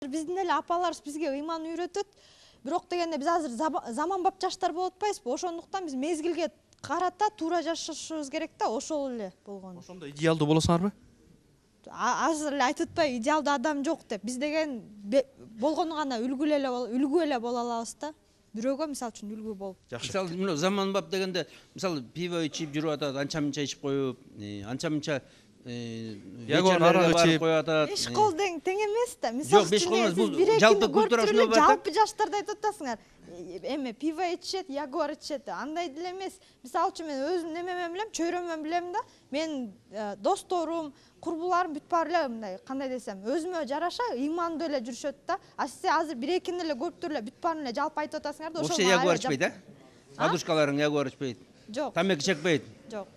Биздин эле апаларыбыз бизге ыйман үйрөтөт. Бирок дегенде биз азыр заманбап жаштар болуп атпайбызбы? Ошондуктан биз мезгилге карата туура жашашыбыз керек да, ошол эле болгон. Ошондо идеалдуу болосуңарбы? Азыр эле айтып атпайбы, идеалдуу адам жок деп. Биз деген болгону гана үлгү эле боло алабыз да. Бирөөгө мисалы үчүн үлгү болуп. Жакшы. Мисалы мына заманбап дегенде мисалы пиво ичип жүрүп атат, анча-мынча ичип коюп, анча-мынча Ягуар арак ичип коюп атат. 5 кол тең эмес да. Мисалы Жок, 5 кол эмес, бул жалпы жалпы культурасында бар да. жалпы жаштарды айтып атасыңар. Эме пиво ичет, ягуар ичет. Андай деле эмес. Мисалы үчүн мен өзүм немемен билем, чөйрөмөн билем да. Мен досторум, курбуларым бүт баары эле мындай, кандай десем, өзүмө жараша ыймандуу эле жүрүшөт да. А сиз азыр бир экини эле көрүп туруп эле бүт баарын эле жалпы айтып атасыңар да. Вообще ягуар ичпейт, а? Адушкаларың ягуар ичпейт. Жок. Тамеки чекпейт. Жок.